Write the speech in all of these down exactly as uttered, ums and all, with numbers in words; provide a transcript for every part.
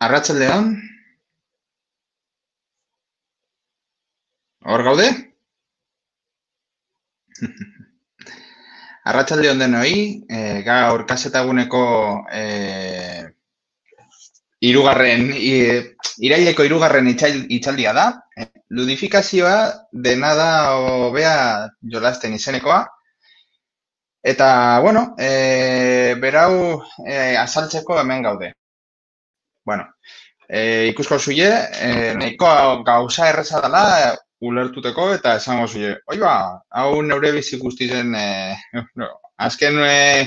Arratsaldeon, hor gaude? Arratsaldeon denoi, e, gaur kasetaguneko e, irugarren, i, iraileko irugarren itxail, itxaldia da. E, ludifikazioa dena da hobea jolasten izenekoa. Eta, bueno, e, berau e, azaltzeko hemen gaude. Bueno, e, ikusko zuie, e, nahiko gauza erreza dela ulertuteko eta esango zuie. Oi ba, hau neure bizi guztizen, e, no, azken e,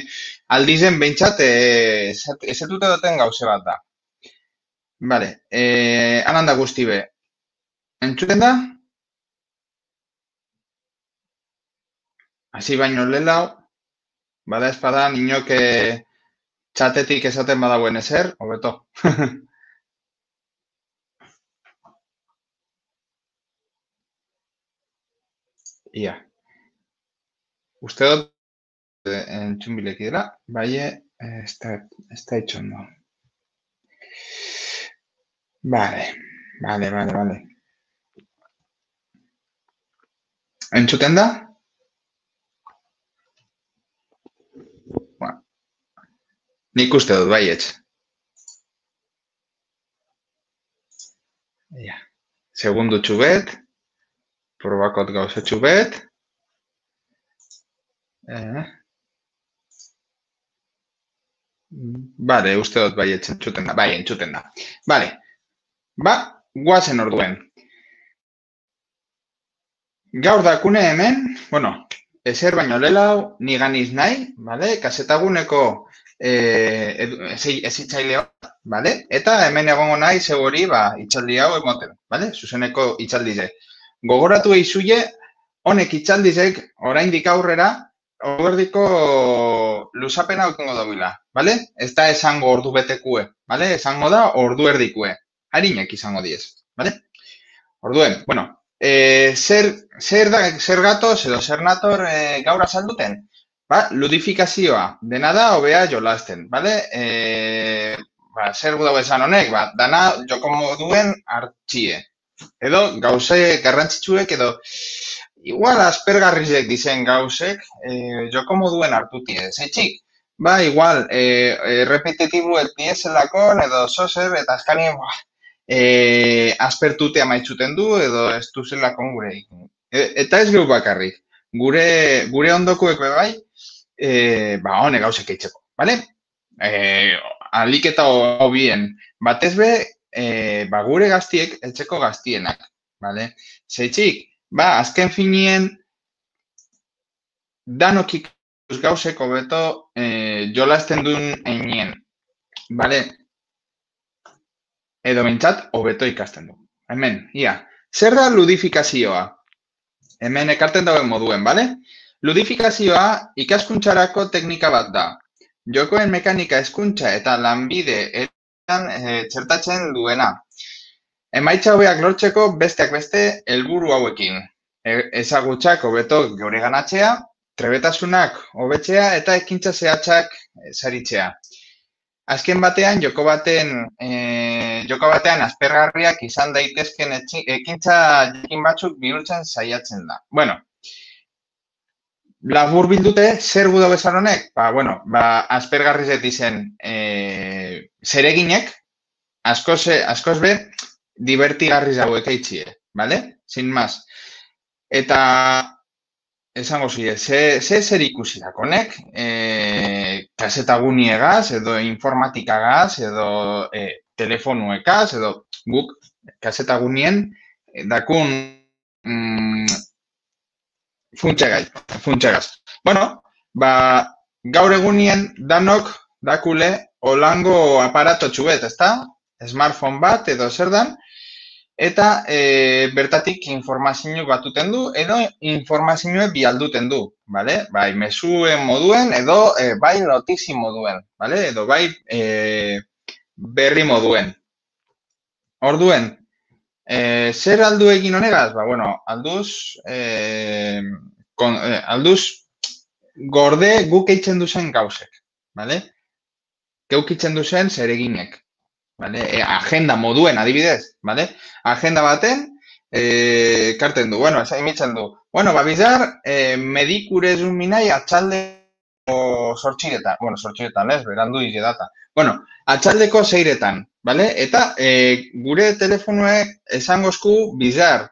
aldizen behintzat e, ezetute duten gauze bat da. Vale, e, anan da guzti be. Entzuten da? Hasi baino lelau, bada espada, ninok e, txatetik esaten badauen ezer, hobeto. Ia. Uste dut entzun bileki dela, bai, ez da, ez da itxondo. Vale, vale, vale, vale. Entzuten da? Bueno, nik uste dut, baietz. Ja. Segundu txubet, probakot gauza txubet. Eh. Vale, uste dut baietz entzuten da, bai, entzuten da. Vale, ba, guazen orduen. Gaur dakune hemen, bueno, ezer baino lelau, ni ganiz nahi, vale? Kasetaguneko eh, ezitzaileo, vale? Eta hemen egongo nahi seguri, ba, itxaldi hau emoten, vale? Zuzeneko itxaldize. Gogoratu eizuie, honek itxaldizek, oraindik aurrera, ordiko luzapena ukengo dobila, vale? Ez da esango ordu betekue, vale? Esango da ordu erdikue. Harinek izango diez, vale? Orduen, bueno, e, zer, zer, da, zer gatoz edo zer nator e, gaur azalduten? Ba, ludifikazioa, dena da hobea jolasten, bale? E, ba, zer gu dago esan honek, ba, dana joko moduen hartxie. Edo gauze garrantzitsuek edo igual aspergarrizek dizen gauzek e, joko moduen hartutie. Zeitzik, ba, igual, e, e, repetitibu ez dieselakon edo zozer eta azkanien, buah, E, aspertute amaitzuten du edo ez duzelako gure egin. E, eta ez geu bakarrik. Gure, gure ondokuek bai, e, ba, hone gauzek eitzeko, bale? E, alik eta hobien. Batez be, e, ba, gure gaztiek etxeko gaztienak, bale? Zeitzik, ba, azken finien danokik gauzeko beto e, jolasten duen einien, bale? Edo bintzat, hobeto ikasten du. Hemen, ia, zer da ludifikazioa? Hemen ekarten dauen moduen, bale? Ludifikazioa ikaskuntzarako teknika bat da. Jokoen mekanika hezkuntza eta lanbide eran e, txertatzen duena. Emaitza hobeak lortzeko besteak beste helburu hauekin. E, ezagutzak hobeto geure ganatzea, trebetasunak hobetzea eta ekintza zehatzak saritzea. Azken batean, joko baten, e, joko batean aspergarriak izan daitezken ekintza jakin batzuk bihurtzen saiatzen da. Bueno, labur bildute, zer gudo bezan honek? Ba, bueno, ba, aspergarrizet izen e, zereginek, askoz, askoz be, divertigarriz hauek eitxie, bale? Sin más. Eta esango zide, ze, ze zer ikusi dakonek, e, kasetaguniegaz, edo informatikagaz, edo e, telefonuekaz, edo guk kasetagunien dakun mm, funtsegaz, funtsegaz. Bueno, ba, gaur egunien danok dakule olango aparato txubet, ezta? Smartphone bat edo zer dan, eta e, bertatik informazio batuten du, edo informazioa bialduten du, bale? Bai, mesuen moduen, edo e, bai notizi moduen, bale? Edo bai e, berri moduen. Orduen, e, zer aldu egin honegaz? Ba, bueno, alduz, e, kon, e, alduz gorde guk eitzen duzen gauzek, bale? keukitzen duzen zereginek. Vale? E, agenda moduen adibidez, vale? Agenda baten, e, karten du, bueno, imitzen du. Bueno, ba, bizar, e, medikurez un minai atxalde o sortxiretan, bueno, sortxiretan, ez, berandu ize data. Bueno, atxaldeko zeiretan, vale? Eta e, gure telefonuek esangozku bizar,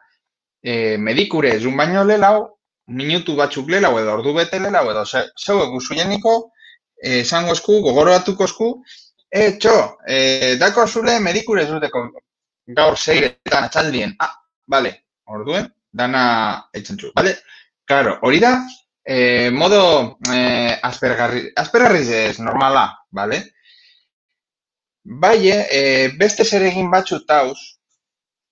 e, medikurez un baino lelau, minutu batzuk lelau edo ordu bete lelau edo zeu eguzu jeniko, esangozku, gogoratukozku, E, txo, e, dako zule medikure zuteko gaur zeiretan atxaldien. Ah, bale, orduen, dana eitzen zu, bale? Claro, hori da, e, modo e, aspergarri, aspergarriz ez normala, bale? Bai, e, beste zeregin batzu tauz,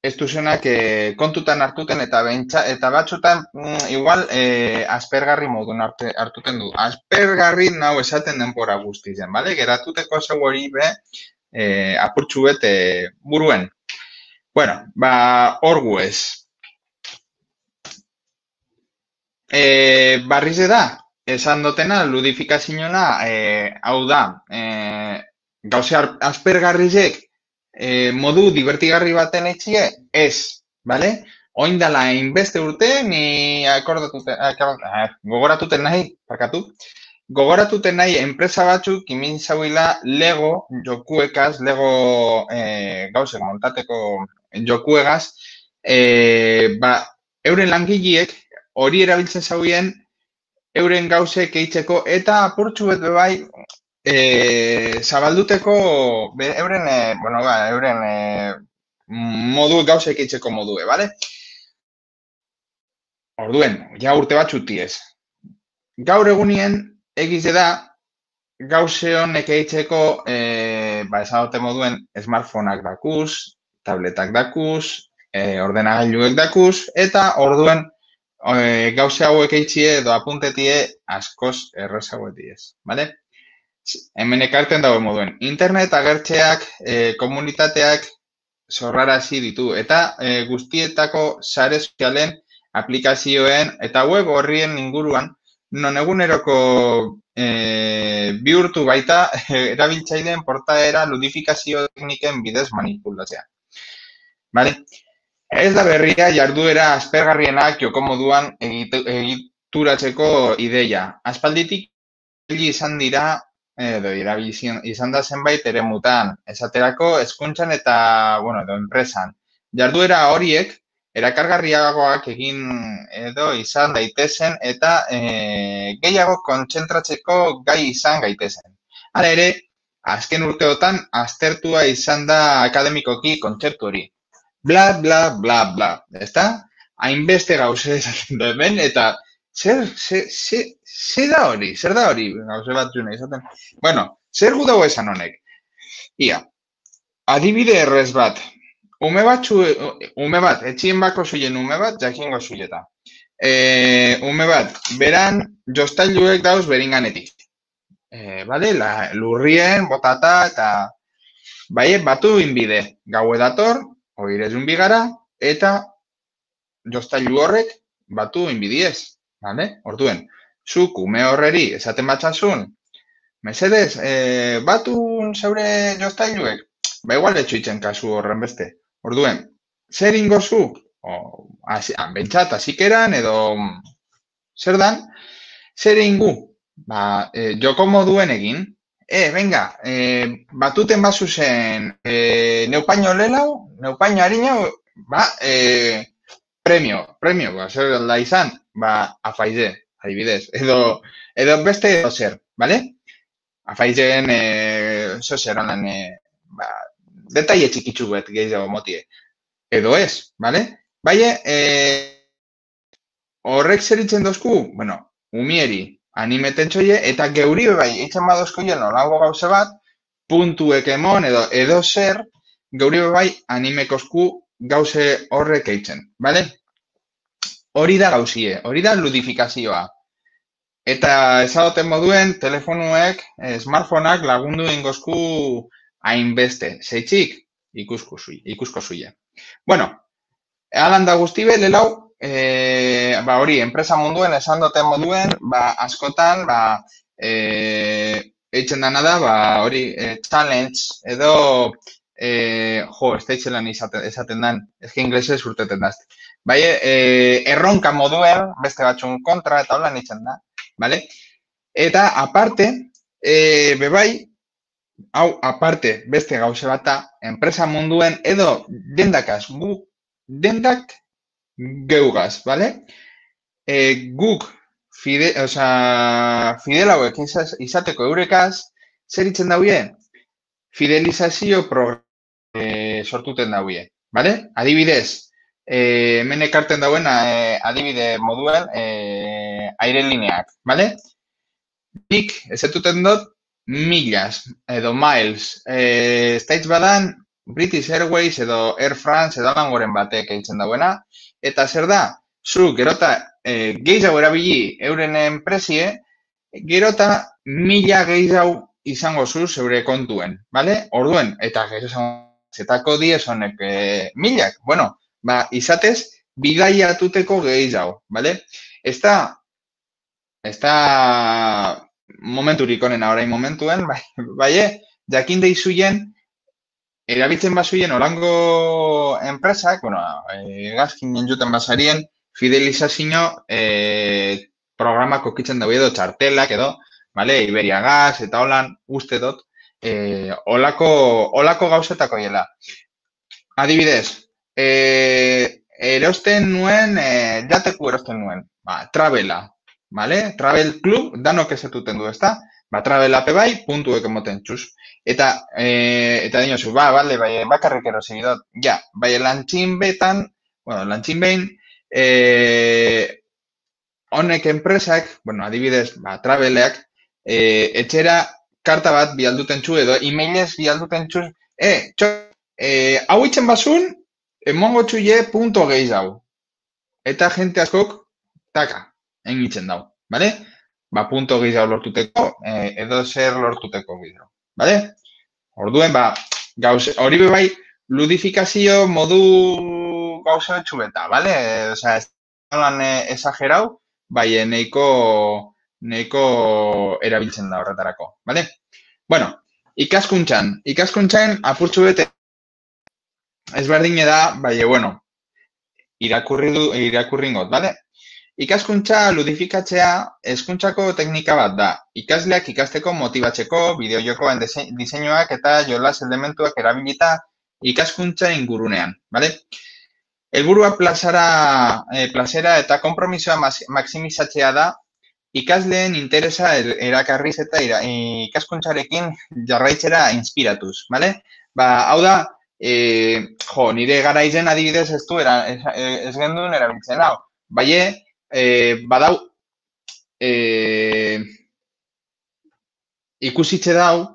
ez duzenak e, kontutan hartuten eta bentsa, eta batzutan mm, igual e, aspergarri modun arte, hartuten du. Aspergarri nau esaten denbora guztizen, bale? Geratuteko zeu hori be e, apurtxu bet e, buruen. Bueno, ba, hor guez. E, barrize da, esan dotena, ludifikazioa, e, hau da, e, gauze aspergarrizek E, modu divertigarri baten etxie, ez, bale? Oin dala inbeste urte, ni akordatuten, ah, gogoratuten nahi, parkatu, gogoratuten nahi enpresa batzuk imin zauila Lego jokuekaz, Lego e, gauzek montateko jokuegaz, e, ba, euren langileek hori erabiltzen zauien euren gauzek eitzeko eta apurtxu bet bai, E, zabalduteko, be, euren, e, bueno, ba, euren e, modu gauzek itzeko modue, bale? Orduen, ja urte bat txutiez. Gaur egunien egize da, gauze honek eitzeko, e, ba, esagote moduen, smartphoneak dakuz, tabletak dakuz, e, ordenagailuek dakuz, eta orduen e, gauze hauek eitzie edo apuntetie askoz errezagoetiez, bale? Hemen ekarten dago moduen. Internet agertzeak, e, komunitateak zorrarazi ditu. Eta e, guztietako sare sozialen aplikazioen eta web horrien inguruan, non eguneroko e, bihurtu baita erabiltzaileen portaera ludifikazio tekniken bidez manipulatzea. Vale? Ez da berria jarduera aspergarrienak joko moduan egituratzeko ideia. Aspalditik izan dira edo irabilizien izan da zenbait eremutan, esaterako hezkuntzan eta, bueno, edo enpresan. Jarduera horiek erakargarriagoak egin edo izan daitezen eta e, gehiago kontzentratzeko gai izan gaitezen. Hala ere, azken urteotan aztertua izan da akademikoki kontzeptu hori. Bla, bla, bla, bla, ezta? Hainbeste gauze esaten da hemen eta zer, zer, zer, zer da hori, zer da hori, gauze bat juna izaten. Bueno, zer gu dago esan honek? Ia, adibide errez bat, ume bat, ume bat, etxien bako zuien ume bat, jakingo zuieta. E, ume bat, beran jostailuek dauz beringanetik. E, bale, la, lurrien, botata, eta bai, batu inbide, gau edator, oirezun bigara, eta jostailu horrek batu inbidiez. Vale? Orduen, zuk ume horreri esaten batxasun, mesedez, e, batun zeure jostailuek, ba igual etxuitzen kasu horren beste. Orduen, zer ingozu? Bentsat, azikeran edo zer dan, zer ingu? Ba, e, joko moduen egin, e, venga, e, batuten bazu zen, e, neupaino lelau, neupaino harina, ba, e, premio, premio, ba, zer da izan, ba, afaize, adibidez, edo, edo beste edo zer, bale? Afaizen, e, zo zer, honen, e, ba, detaile txikitzu bet gehiago motie. Edo ez, bale? Baie, e, horrek zer itzen dozku, bueno, umieri, animeten txoie, eta geuri bai, itzen badozkoien olango gauze bat, puntuek emon, edo, edo zer, geuri bai, animekozku gauze horrek eitzen, bale? Hori da gauzie, hori da ludifikazioa. Eta ezagoten moduen, telefonuek, smartphoneak lagundu ingozku hainbeste. Zeitzik, ikusko zui, ikusko zuie. Bueno, alan da guztibe, lelau, e, ba hori, enpresa munduen esan duten moduen, ba askotan, ba, e, eitzen dana da, ba, hori, eh, challenge, edo, eh, jo, ez da itzelan izaten, esaten dan, ezki inglesez urteten daz. Bai, eh, erronka moduen, beste batzun kontra, eta holan itzen da, bale? Eta, aparte, eh, bebai, hau, aparte, beste gauze bata, enpresa munduen, edo, dendakaz, gu, dendak geugaz, bale? E, guk fide, osea, fidel hauek izaz- izateko eurekaz, zer itzen dauie? Fidelizazio programa e, sortuten dauie, bale? Adibidez, e, hemen ekarten dauena e, adibide moduen e, airelineak, bale? Nik ezetuten dut millas edo miles. E, States badan British Airways edo Air France edo langoren batek eitzen dauena. Eta zer da? Zu, gerota, e, gehiago erabili euren enpresie, gerota mila gehiago izango zu zeure kontuen, bale? Orduen, eta gero zetako diez honek e, milak. Bueno, ba, izatez, bidaiatuteko gehiago, bale? Ez da, ez da momenturik onena orain momentuen, bai, bai, jakin deizuien, erabiltzen bazuien olango enpresak, bueno, e, gazkin juten basarien, fidelizazio e, programak okitzen dago edo txartelak edo, vale, Iberia Gas eta holan uste dut, e, olako, olako gauzetako hiela. Adibidez, e, erosten nuen, e, jateku erosten nuen, ba, travela, vale? Travel Club, danok ezetuten du, ezta? Ba, travel ape bai, puntuek emoten txuz. Eta, e, eta dinozu, ba, bale, bai, bakarrik erosi dut. Ja, bai, lantxin betan, bueno, lantxin behin, e, honek enpresak, bueno, adibidez, ba, traveleak, e, etxera karta bat bialduten txu edo, emailez bialduten txuz, e, txo, e, hau itzen basun, emongo txuie punto gehiago. Eta jente askok, taka, engitzen dau, bale? Ba, punto gehiago lortuteko, eh, edo zer lortuteko gehiago, bale? Orduen, ba, gauze, hori bebai, ludifikazio modu gauza betxubeta, bale? Osea, ez lan esagerau, bai, neiko, neiko erabiltzen da horretarako, bale? Bueno, ikaskuntzan, ikaskuntzan apurtxu bete ezberdine da, bai, bueno, irakurri du, irakurringot, bale? Ikaskuntza ludifikatzea hezkuntzako teknika bat da. Ikasleak ikasteko motibatzeko, bideojokoen diseinuak eta jolas elementuak erabilita ikaskuntza ingurunean, bale? Helburua plazara, eh, plazera eta konpromisoa maximizatzea da, ikasleen interesa erakarriz eta ira, ikaskuntzarekin jarraitzera inspiratuz, bale? Ba, hau da, e, jo, nire garaizen adibidez ez du, era, ez, ez gendun erabiltzen hau. Baie, e, badau, e, ikusitze dau,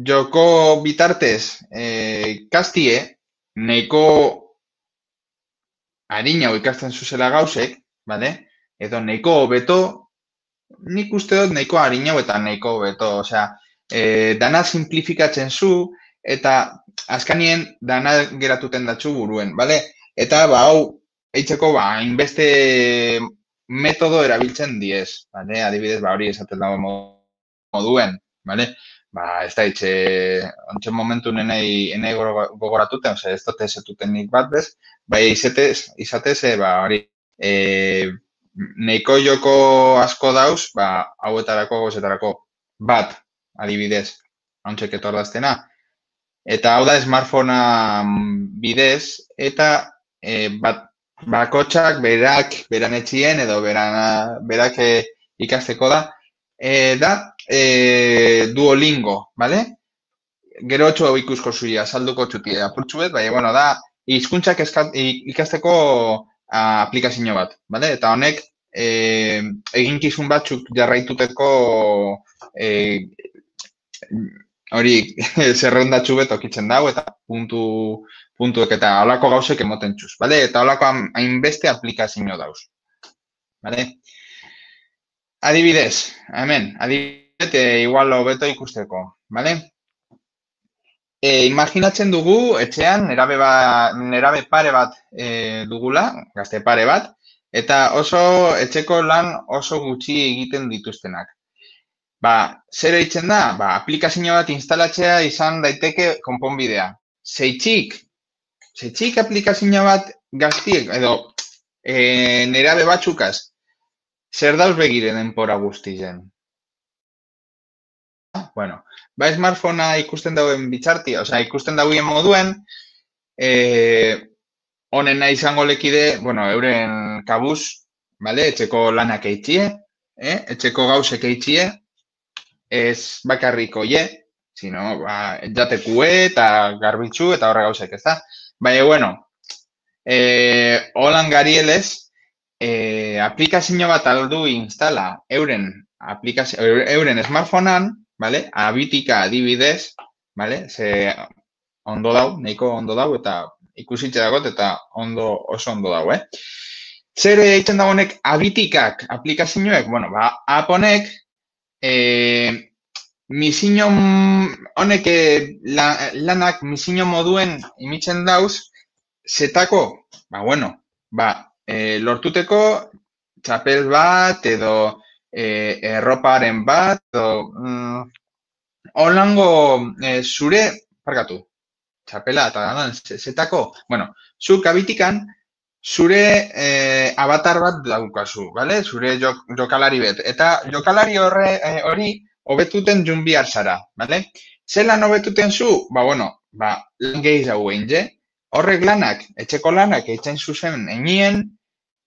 joko bitartez e, kastie, neiko harina ikasten zuzela gauzek, bale? Edo neiko hobeto, nik uste dut neiko harina eta neiko hobeto, osea, e, dana simplifikatzen zu, eta azkanien dana geratuten datzu buruen, bale? Eta, ba, hau, eitzeko, ba, inbeste metodo erabiltzen diez, bale? Adibidez, ba, hori esaten dago moduen, bale? Ba, ez da itxe, ontsen momentu nenei, nenei gogoratuten, ose, ez dut ezetuten nik bat bez, bai, izatez, izatez, e, ba, hori, e, neiko joko asko dauz, ba, hauetarako, gozetarako, bat, adibidez, hauntzek etordaztena. Eta hau da smartphonea bidez, eta e, bat, bakotxak berak, beran etxien, edo beran, berak e, ikasteko da, e, da e, Duolingo, bale? Gero txo ikusko zuia, salduko txutia, apurtxuet, bai, bueno, da, hizkuntzak ikasteko a, aplikazio bat, bale? Eta honek, e, eginkizun batzuk jarraituteko e, hori zerrendatxu bet okitzen dago, eta puntu, puntuek eta holako gauzek emoten txuz, bale? Eta holako hainbeste aplikazio dauz, bale? Adibidez, hemen, adibidez, e, igual hobeto ikusteko, bale? E, imaginatzen dugu, etxean, nerabe, ba, nerabe pare bat e, dugula, gazte pare bat, eta oso etxeko lan oso gutxi egiten dituztenak. ba, zer eitzen da? Ba, aplikazio bat instalatzea izan daiteke konponbidea. Zeitzik, zeitzik aplikazio bat gaztiek, edo e, nerabe batzukaz, zer dauz begire denpora guztizen? Bueno, ba, smartphonea ikusten dauen bitxarti, osea, ikusten dauen moduen, eh, honena izango lekide, bueno, euren kabuz, vale, etxeko lanak eitxie, eh? Etxeko gauzek eitxie, ez bakarriko ye, sino, ba, jatekue eta garbitzu eta horre gauzek, ez da? Baina, bueno, eh, holan garielez, eh, aplikazio bat aldu instala euren, aplikazio, euren smartphonean, vale? Abitika adibidez, vale? Ze ondo dau, nahiko ondo dau, eta ikusitxe dagot, eta ondo, oso ondo dau, eh? Zer egiten dagoenek abitikak aplikazioek, bueno, ba, app honek, eh, misino honek la, lanak misino moduen imitzen dauz, zetako, ba, bueno, ba, e, lortuteko txapel bat, edo e, erroparen bat, edo mm, holango e, zure, parkatu, txapela eta zetako, bueno, zuk abitikan, zure eh, avatar bat daukazu, vale? Zure jok, jokalari bet. Eta jokalari horre, eh, hori hobetuten jun bihar zara, vale? Zelan hobetuten zu? Ba, bueno, ba, lan gehiago egin, je? Horrek lanak, etxeko lanak, eitzen zuzen enien,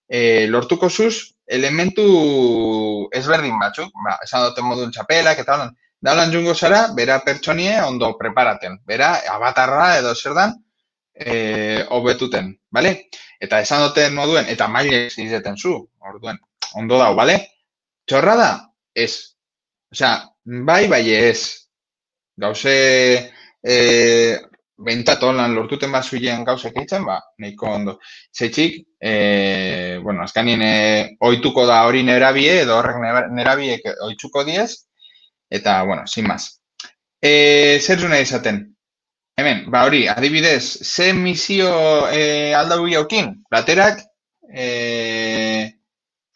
eh, lortuko zuz, elementu ezberdin batzuk, ba, esan duten modun txapelak, eta holan, da holan jungo zara, bera pertsonie ondo preparaten, bera avatarra edo zer dan, eh, hobetuten, bale? Eta esan duten moduen, eta maile izeten zu, orduen, ondo dau, bale? Txorra da? Ez. Osea, bai, bai ez. Gauze, e, bentat holan lortuten bat zuien gauzek eitzen, ba, nahiko ondo. Zeitzik, e, bueno, azkanien e, oituko da hori nerabie, edo horrek nerabiek oitzuko diez, eta, bueno, sin más. E, zer zuna izaten? Hemen, ba hori, adibidez, ze misio e, aldau jaukin? Platerak, e,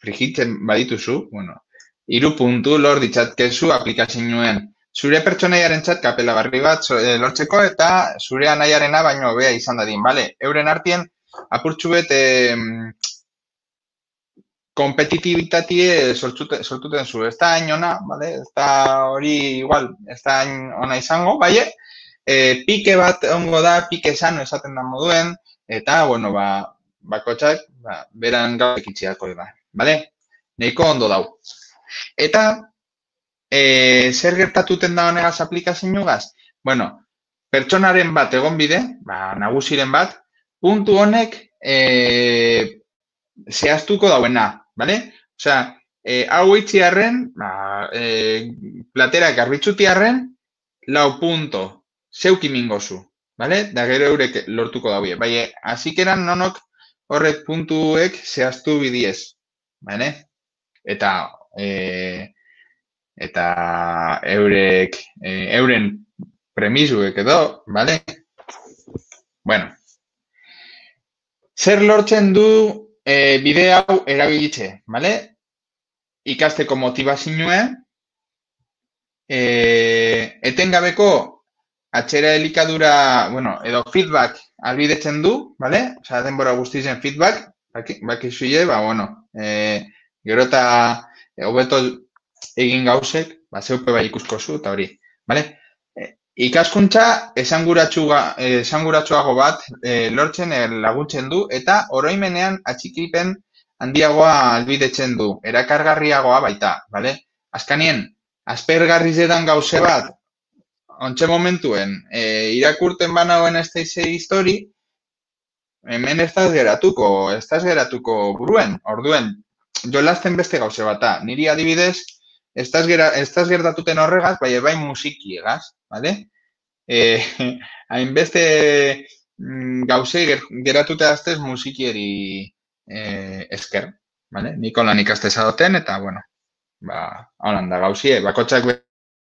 frigitzen badituzu, bueno, iru puntu lor ditzatkezu aplikazioen. Zure pertsonaiaren txat kapela barri bat e, lortzeko eta zure anaiarena baino bea izan dadin, bale? Euren artien, apurtxu bet, e, kompetitibitatie sortuten, sortuten zu. Ez da hain ona, bale? Ez da hori igual, ez da hain ona izango, bai? E, pike bat ongo da, pike sano esaten da moduen, eta, bueno, ba, bakotxak, ba, beran gauzek itxiako da, bale? Neiko ondo dau. Eta, e, zer gertatuten da honegaz aplikazioagaz? Bueno, pertsonaren bat egon bide, ba, nagusiren bat, puntu honek e, zehaztuko dauena, bale? Osea, e, hau itxiarren, ba, e, platera garbitxutiarren, lau punto. Zeuki mingozu, bale? Da gero eurek lortuko daue. Baina, azikeran nonok horrek puntuek zehaztu bidiez, bale? Eta, e, eta eurek, e, euren premisuek edo, bale? Bueno. Zer lortzen du e, bide hau erabilitze, bale? Ikasteko motivazioa, e, etengabeko atxera elikadura, bueno, edo feedback albidetzen du, bale? Osa, denbora guztizen feedback, bakizuile, ba, bueno, e, gero eta hobeto egin gauzek, ba, zeupe bai ikusko zu, eta hori, bale? E, ikaskuntza esanguratsuago bat e, lortzen e, laguntzen du, eta oroimenean atxikipen handiagoa albidetzen du, erakargarriagoa baita, bale? Azkanien, aspergarriz edan gauze bat, ontxe momentuen, e, irakurten banagoen ez daizei histori, hemen ez daz geratuko, ez daz geratuko buruen, orduen, jolasten beste gauze bata. Niri adibidez, ez daz gertatuten horregaz, bai bai musikiegaz, bale? E, hainbeste gauze geratute aztez musikieri e, esker, bale? Niko lan ikasteza doten, eta, bueno, ba, holan da gauzie, bakotxak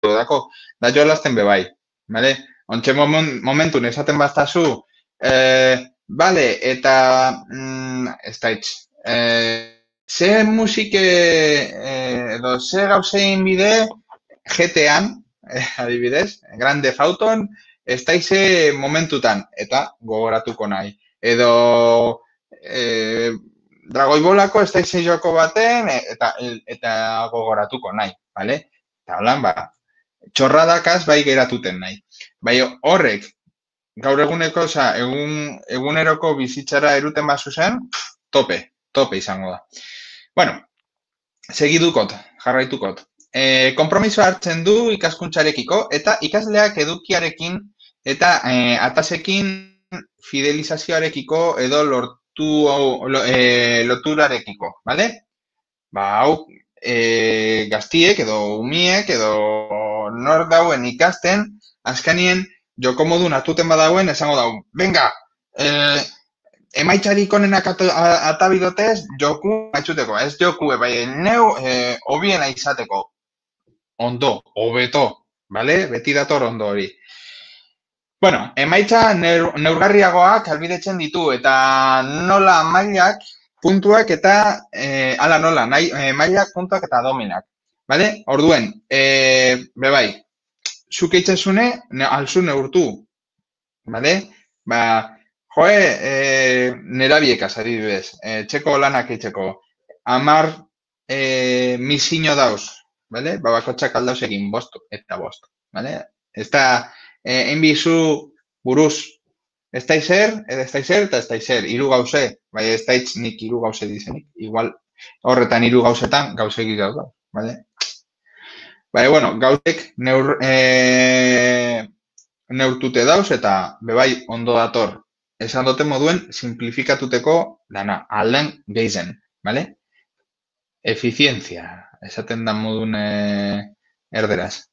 dako, da jolasten bebai, bale? Ontxe momentun esaten baztazu, eh, bale, eta, mm, ez daitz, eh, ze musike, eh, edo ze gauzein bide, G T An, eh, adibidez, Grand Theft Auton, ez daize momentutan, eta gogoratuko nahi. Edo e, Dragoi Bolako ez daize joko baten, eta, eta gogoratuko nahi, bale? Eta holan, ba, txorradakaz bai geratuten nahi. Bai horrek, gaur eguneko, oza, egun, eguneroko bizitzara eruten bazu zen, tope, tope izango da. Bueno, segidukot, jarraitukot. E, kompromiso hartzen du ikaskuntzarekiko eta ikasleak edukiarekin eta e, atasekin fidelizazioarekiko edo lortu lo, e, loturarekiko, bale? Ba, hau, e, gaztiek edo umiek edo nor dauen ikasten, azkanien joko modu natuten badauen esango dau, venga, e, emaitzarik onenak atabidotez, joku maitzuteko, ez joku, bai, neu, e, obiena izateko. Ondo, hobeto, bale? Beti dator ondo hori. Bueno, emaitza neur, neurgarriagoak albidetzen ditu, eta nola mailak, puntuak eta, e, ala nola, nahi, e, mailak, puntuak eta dominak. Bale? Orduen, e, bebai, zuk eitzezune, ne, alzu neurtu. Bale? Ba, joe, e, nerabiekaz, adibidez, e, txeko lanak eitzeko, amar e, misiño dauz, bale? Ba, bakotxak aldauz egin bostu, eta bostu, bale? Ez da, e, enbizu buruz, ez da izer, ez da izer, eta ez da izer, hiru gauze, bai ez da itz nik hiru gauze dizenik, igual horretan hiru gauzetan gauze egitaz da, bale? Bai, bueno, gauzek neur, e, neurtute dauz, eta bebai ondo dator, esan dute moduen simplifikatuteko dana, alden geizen, bale? Efizientzia, esaten da modun e, erderaz.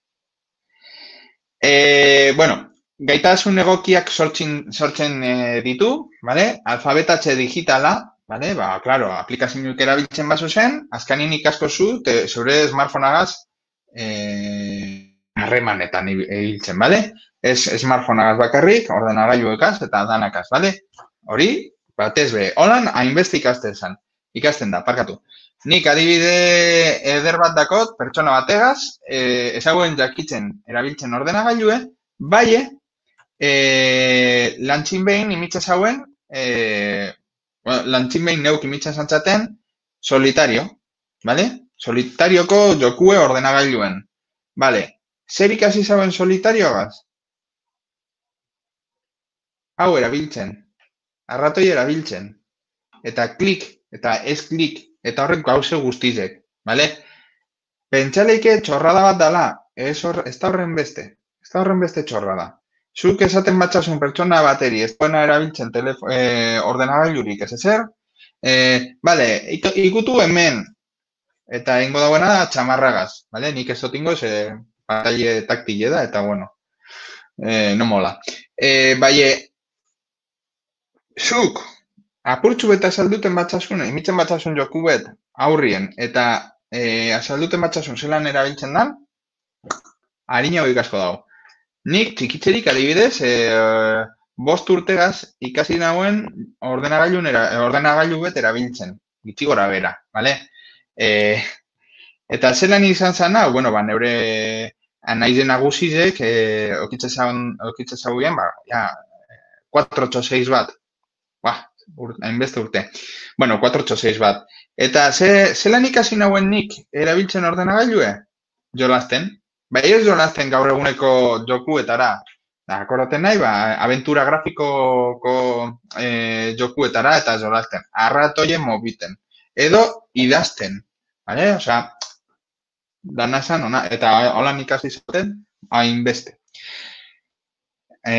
E, bueno, gaitasun egokiak sortzen, sortzen e, ditu, bale? Alfabetatze digitala, bale? Ba, claro, aplikazioak erabiltzen bazu zen, azkanin ikasko zu, te, zure smartphoneagaz harremanetan e, ibiltzen, bale? Ez smartphoneagaz bakarrik, ordenagailuekaz eta danakaz, bale? Hori, batez be, holan hainbeste ikasten zen, ikasten da, parkatu. Nik adibide eder bat dakot, pertsona bategaz, e, ezaguen jakitzen erabiltzen ordenagailue, bai, e, lantxin behin imitza zauen, e, bueno, lantxin behin neuk imitzen zantzaten, solitario, bale? Solitarioko jokue ordenagailuen, bale? Zer ikasi zauen solitarioagaz? Hau erabiltzen, arratoi erabiltzen, eta klik, eta ez klik, eta horrek gauze guztizek, bale? Pentsaleike txorrada bat dala, ez, hor, ez da horren beste, ez da horren beste txorrada. Zuk esaten batxasun pertsona bateri, ez duena erabiltzen telefo, e, ordenagailurik, ez ezer, e, bale, ikutu hemen, eta ingo dagoena da txamarragaz, bale? Nik ez dotingo, ze pantalla taktile da, eta bueno, e, no mola. E, bai, zuk, apurtxu beta azalduten batxasun, imitzen batxasun joku bet aurrien, eta e, azalduten batxasun zelan erabiltzen dan, harina hori asko dago. Nik txikitzerik adibidez, e, bost urtegaz ikasi nauen ordenagailu, ordenagailu bet erabiltzen, gitxi gora bera, bale? E, eta zelan izan zana, bueno, ba, neure anaizen agusizek, e, okitze zauien, ba, ja, cuatro ocho seis bat, ba, hainbeste urte. Bueno, cuatro ocho seis bat. Eta ze, zelan ikasi nauen nik erabiltzen ordenagailue? Jolasten. Bai ez jolasten gaur eguneko jokuetara. Akordaten nahi, ba, aventura grafikoko e, jokuetara eta jolasten. Arratoien mobiten. Edo idazten. Bale? Osea, dana esan, ona, eta holan ikasi zaten, hainbeste. E,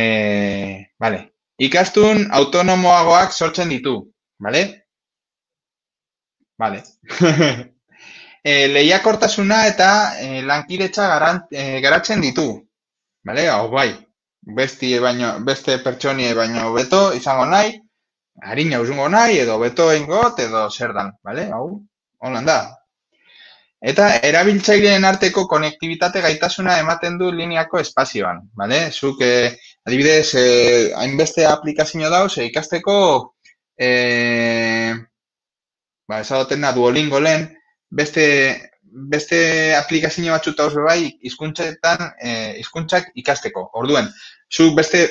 bale. Ikastun autonomoagoak sortzen ditu, bale? Bale. e, lehiakortasuna eta e, lankidetza garan, e, garatzen ditu, bale? Hau bai, besti baino, beste pertsonie baino beto izango nahi, harina usungo nahi, edo beto ingot, edo zer dan, bale? Hau, holan da. Eta erabiltzaileen arteko konektibitate gaitasuna ematen du lineako espazioan, bale? Zuk, eh, adibidez, eh, hainbeste aplikazio dauz, eh, ikasteko, eh, ba, esadoten da Duolingo lehen, beste, beste aplikazio batzuk dauz bai hizkuntzetan eh, hizkuntzak ikasteko. Orduen, zu beste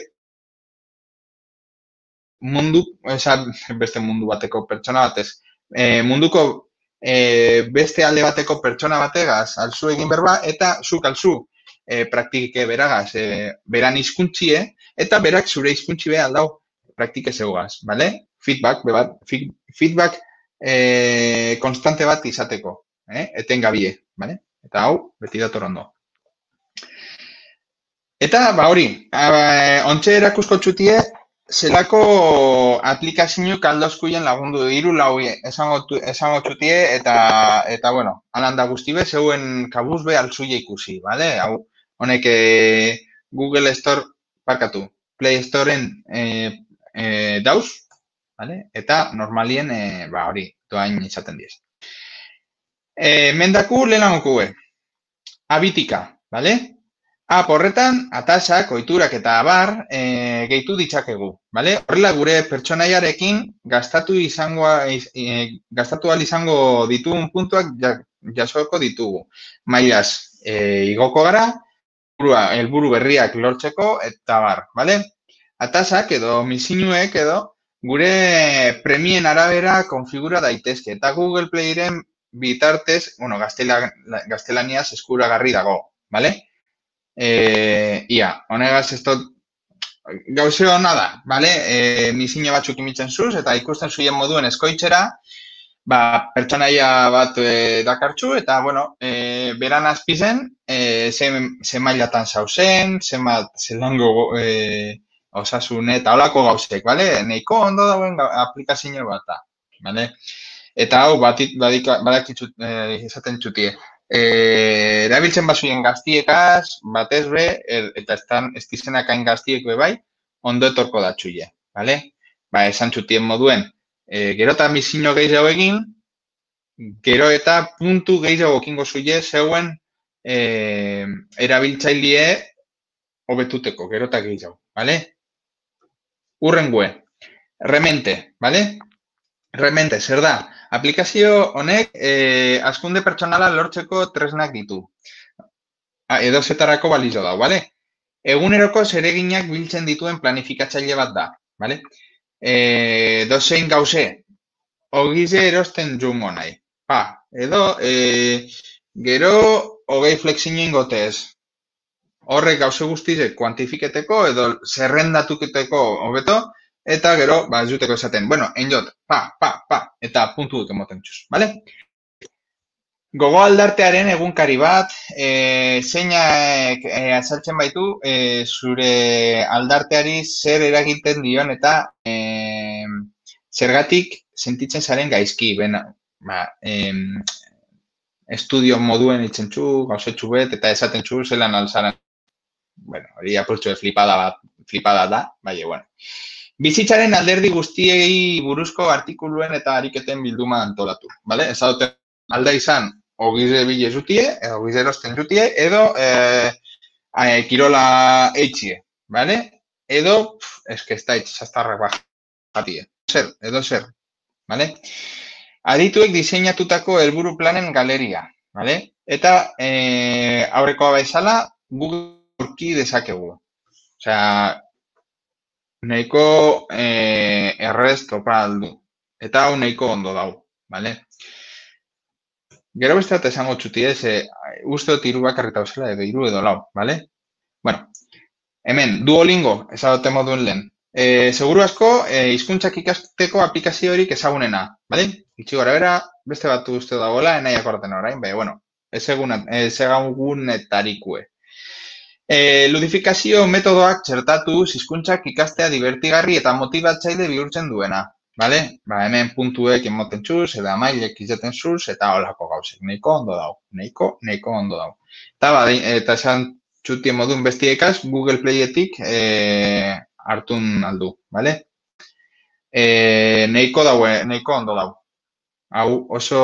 mundu, esa, beste mundu bateko pertsona batez, eh, munduko eh, beste alde bateko pertsona bategaz alzu egin berba, eta zuk alzu eh, praktike beragaz, eh, beran hizkuntzie, eta berak zure hizkuntzi be aldau praktike zeugaz, bale? Feedback, bebat, feedback eh, konstante bat izateko, eh? Etengabie, bale? Eta hau, beti dator ondo. Eta, ba hori, ontxe erakusko txutie, zelako aplikazio kaldozkuien lagundu hiru lau esango, esango txutie, eta, eta bueno, alanda guztibe, zeuen kabuz be altzuia ikusi, bale? Hau, honek eh, Google Store, parkatu, Play Storeen eh, eh, dauz, bale? Eta normalien, eh, ba hori, doain izaten diez. Eh, mendaku lehenagoko gue, abitika, bale? App horretan, atasak, ohiturak eta abar e, gehitu ditzakegu, bale? Horrela gure pertsonaiarekin gastatu izango e, gastatu ahal izango ditugun puntuak jasoko ditugu. Mailaz, e, igoko gara, helburu berriak lortzeko eta bar, bale? Atasak edo misinuek edo gure premien arabera konfigura daitezke eta Google Playren bitartez, bueno, gaztela, gaztelaniaz eskuragarri dago, bale? Eh, ia, honegaz ez dut gauze hona da, bale? E, misino batzuk imitzen zuz, eta ikusten zuien moduen eskoitzera, ba, pertsonaia bat e, dakartzu, eta, bueno, e, beran azpizen, e, ze, ze mailatan zauzen, ze zelango e, osasun eta holako gauzek, bale? Neiko ondo dauen aplikazio bat da, bale? Eta hau, batit, badika, badakitzu e, izaten txutie. Eh, erabiltzen bazuien gaztiekaz, batez be, er, eta estan estizenak hain gaztiek be bai, ondo etorko da txuie, bale? Ba, esan txutien moduen, e, gero eta misino gehiago egin, gero eta puntu gehiago kingo zuie zeuen e, erabiltzailie hobetuteko, gero eta gehiago, bale? Urrengue, remente, bale? Remente, zer da? Aplikazio honek eh, azkunde pertsonala lortzeko tresnak ditu. Edo zetarako balizo da, bale? Eguneroko zereginak biltzen dituen planifikatzaile bat da, bale? E, dozein gauze, ogize erosten jungo nahi. Pa, edo, e, gero, hogei flexinoin gotez. Horrek gauze guztizek kuantifiketeko edo zerrendatuketeko hobeto, eta gero, ba, ez duteko esaten. Bueno, enjot, pa, pa, pa, eta puntu dut emoten txuz, bale? Gogo aldartearen egunkari bat, e, zeinak e, azaltzen baitu, e, zure aldarteari zer eragiten dion eta e, zergatik sentitzen zaren gaizki. Ben, ba, e, estudio moduen itzen txu, gauzetxu bet, eta esaten txu, zelan alzaren. Bueno, hori apurtxu flipada bat, flipada da, bai, bueno. Bizitzaren alderdi guztiei buruzko artikuluen eta ariketen bilduma antolatu, bale? Ez dute alda izan, ogize bile zutie, edo ogize erosten zutie, edo eh, eh, kirola eitxie, bale? Edo, eske ez da eitx, zaztarrak bajatie. Zer, edo zer, bale? Adituek diseinatutako helburu planen galeria, bale? Eta eh, aurrekoa bezala, Google aurki dezakegu. Osea, nahiko eh, errez topa aldu. Eta hau nahiko ondo dau, bale? Gero beste bat esango txuti ez, e, uste dut hiru bakarrita osela edo hiru edo lau, bale? Bueno, hemen, Duolingo, ezagote moduen lehen. E, seguru asko, e, hizkuntzak ikasteko aplikaziorik ezagunena, bale? Itxi gara bera, beste bat uste dagoela, enaiak orten orain, bai, bueno, ez egunetarikue. E, ludifikazio metodoak txertatu hizkuntzak ikastea divertigarri eta motibatzaile bihurtzen duena. Bale? Ba, hemen puntuek emoten txuz, eta mailek izaten zuz, eta holako gauzek. Neiko ondo dau. Neiko, neiko ondo dau. Eta, ba, eta esan txutien modun bestiekaz, Google Playetik e, hartun aldu. Bale? E, neiko daue, neiko ondo dau. Hau oso,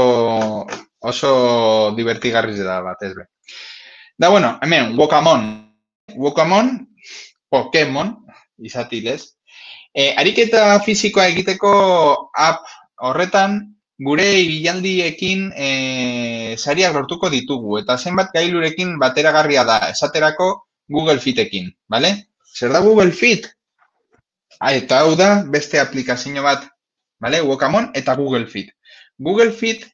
oso divertigarri da bat, ez be. Da, bueno, hemen, Wokamon. Wokamon, Pokemon, izatilez. E, ariketa fisikoa egiteko app horretan gure ibilandiekin e, sariak lortuko ditugu, eta zenbat gailurekin bateragarria da, esaterako Google Fitekin, bale? Zer da Google Fit? Ah, eta hau da beste aplikazio bat, bale? Wokamon eta Google Fit. Google Fit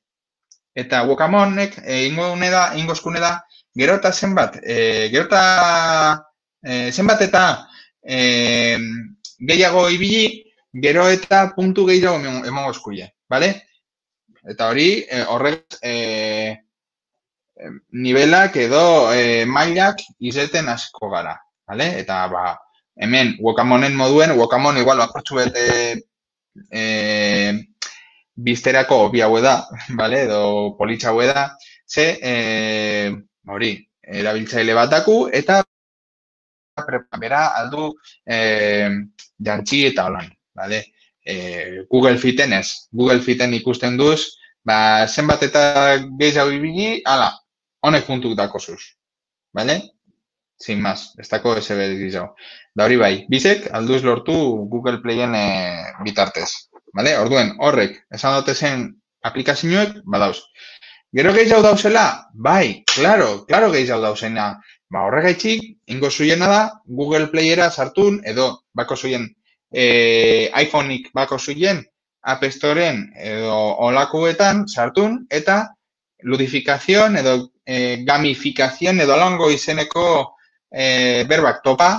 eta Wokamonek ingo da, ingozkune da, gero eta zenbat, e, gero eta e, zenbat eta e, gehiago ibili, gero eta puntu gehiago emongo eskuie, bale? Eta hori, e, horrek e, nivelak edo e, mailak izeten asko gara, bale? Eta ba, hemen Wokamonen moduen, Wokamon igual bakortxu bete e, bizterako bi haue da, bale? Edo politxa haue da, ze e, hori, erabiltzaile bat daku, eta bera aldu e, jantzi eta holan, bale? E, Google Fiten ez. Google Fiten ikusten duz, ba, zenbat eta gehiago ibili, ala, honek puntuk dakozuz, bale? Sin más, ez dako ese gehiago. Da hori bai, bizek alduz lortu Google Playen e, bitartez, bale? Orduen, horrek, esan dute zen aplikazioek, badauz. Gero gehiago dauzela? Bai, claro, claro gehiago dauzena. Ba, horregaitxik, ingo zuiena da, Google Playera sartun, edo bako zuien e, iPhoneic bako zuien App Storeen edo olakuetan sartun, eta ludifikazioan edo e, gamifikazioan edo alango izeneko e, berbak topa,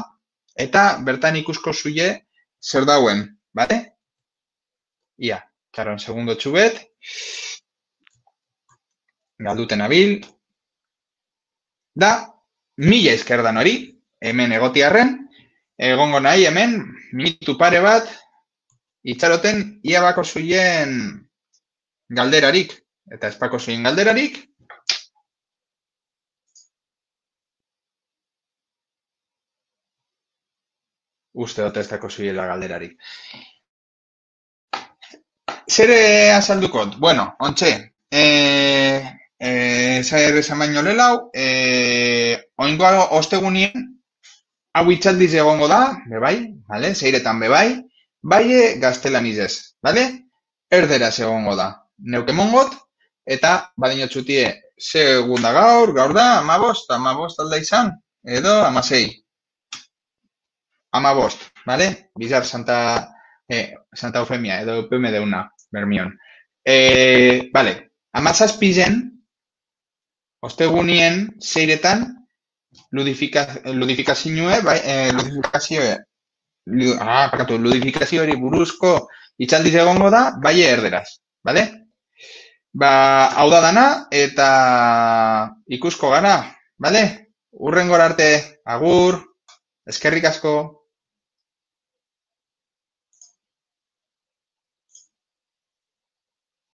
eta bertan ikusko zuie zer dauen, bate? Ia, karon, segundo txubet, galduten abil, da, mila izkerdan hori, hemen egotiarren, egongo nahi hemen, minutu pare bat, itxaroten ia bako zuien galderarik, eta ez bako zuien galderarik, uste dut ez dako zuiela galderarik. Zere azaldukot? Bueno, ontxe, eh... Eh, Zaher esan baino lelau, eh, oingoa ostegunien, hau itxaldiz egongo da, bebai, vale? Zeiretan bebai, baie gaztelanizez, vale? Erderaz egongo da, neuke mongot, eta badinotxutie, segunda gaur, gaur da, amabost, amabost alda izan, edo amasei. Amabost, vale? Bizar Santa, eh, Santa Eufemia, edo P M deuna, bermion. Eh, vale, amazazpizen, ostegunien zeiretan ludifikazioe, bai, eh, ludifikazioe, lud, ah, pakatu, ludifikazioari buruzko itxaldiz egongo da, bai erderaz, bale? Ba, hau da dana, eta ikusko gara, bale? Urrengora arte, agur, eskerrik asko.